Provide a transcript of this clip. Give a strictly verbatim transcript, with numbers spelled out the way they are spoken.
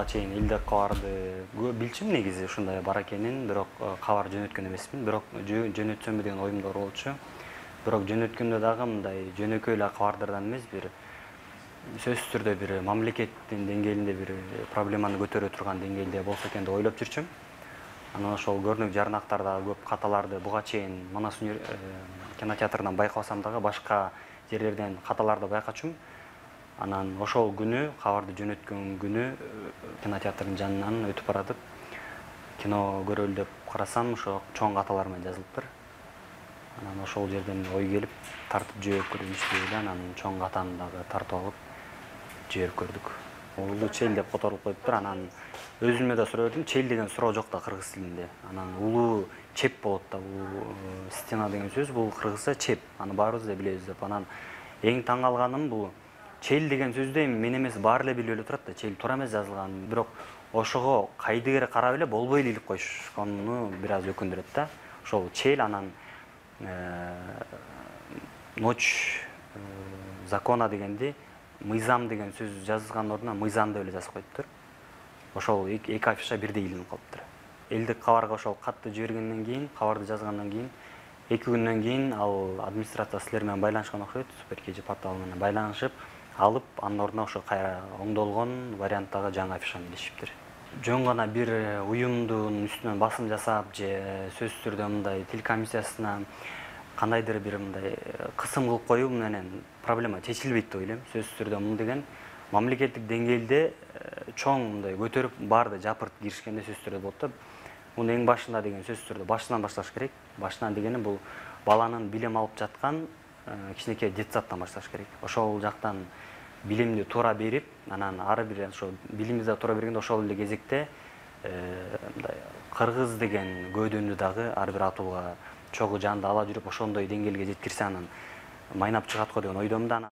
чейин элдик кабарды билчүмүн негизи ушундай бар экенин, бирок кабар жөнөткөн эмесмин. Бирок жөнөтсөмбү деген оюм да болчу. Бирок жөнөткөндө дагы мындай жөнөкөй эле кабардардан эмес, бир сөзсүз түрдө бир мамлекеттин деңгээлинде бир проблеманы көтөрө турган деңгээлде болсо экен деп ойлоп жүрчүм. Анан ошол көрүнүк жарнактарда көп каталарды буга чейин Манас кинотеатрынан байкабасам дагы башка жерлерден каталарды байкачумун. Анан ошол күнү, кабарды жөнөткөн күнү кинотеатрдын жанынан өтүп баратып, кино көрөлү деп карасам, ошо чоң каталар менен жазылыптыр. Анан ошол жерден ой келип, тартып жиберип көрүнүш деп эле, анан чоң катаны дагы тартып алып жиберип көрдүк. Улуу чел деп которулуп коюптур. Анан өзүмө да суроо бердим, чел деген суроо жок да кыргыз тилинде. Анан улуу чеп болот да, бул стена деген сөз, бул кыргызча чеп. Аны баарыбыз да билебиз деп. Анан эң таң калганым бул чел деген сөздү мен эмес баары эле билип эле турат да, чел туура эмес жазылган. Бирок ошого кайдыгер карап эле болбой эле илип коюшкону бир аз өкүндүрөт да. Ошол чел, анан ночь закона дегенди мыйзам деген сөз жазылган ордуна мыйзам деп эле жазып коюптур. Ошол эки афиша бирдей илинип калыптыр. Элдик кабарга ошол катты жибергенден кийин, кабарды жазгандан кийин эки күндөн кийин ал администрация силер менен байланышкан окшойт, Супер КЖ порталы менен байланышып, алып, анын ордуна ошо кайра оңдолгон варианттагы жаңы афишаны илишиптир. Жөн гана бир уюмдун үстүнөн басым жасап же сөзсүз түрдө мындай тил комиссиясына кандайдыр бир мындай кысым кылып коюу менен проблема чечилбейт деп ойлойм. Сөзсүз түрдө мун деген мамлекеттик деңгээлде чоң мындай көтөрүп баарды жапырт киришкенде сөзсүз түрдө болот да. Муну эң башында деген сөзсүз түрдө башынан башташ керек. Башынан дегени бул баланын билим алып жаткан кичинекей детсадтан башташ керек. Ошол жактан билимди туура берип, анан ары бир ошо билимди туура бергенде ошол эле кезекте мындай кыргыз деген көөдөнү дагы ар бир атууга чогуу жанында ала жүрүп ошондой деңгээлге жеткирсе анан майнап чыгат го деген ойдомун да.